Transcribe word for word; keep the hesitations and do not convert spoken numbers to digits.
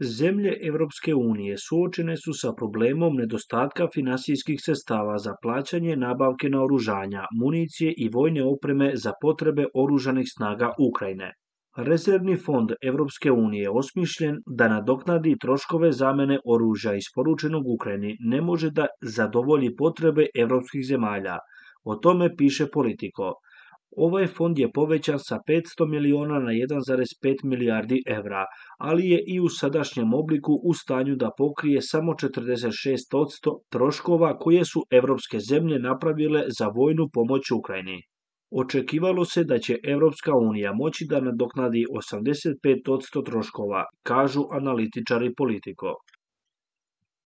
Zemlje Europske unije suočene su sa problemom nedostatka finansijskih sredstava za plaćanje nabavke naoružanja, municije i vojne opreme za potrebe oružanih snaga Ukrajine. Rezervni fond Europske unije osmišljen da nadoknadi troškove zamene oružja isporučenog Ukrajini ne može da zadovolji potrebe evropskih zemalja. O tome piše Politico. Ovaj fond je povećan sa petsto miliona na jedan zarez pet milijardi evra, ali je i u sadašnjem obliku u stanju da pokrije samo četrdeset šest posto troškova koje su evropske zemlje napravile za vojnu pomoć Ukrajini. Očekivalo se da će Evropska unija moći da nadoknadi osamdeset pet posto troškova, kažu analitičari Politico.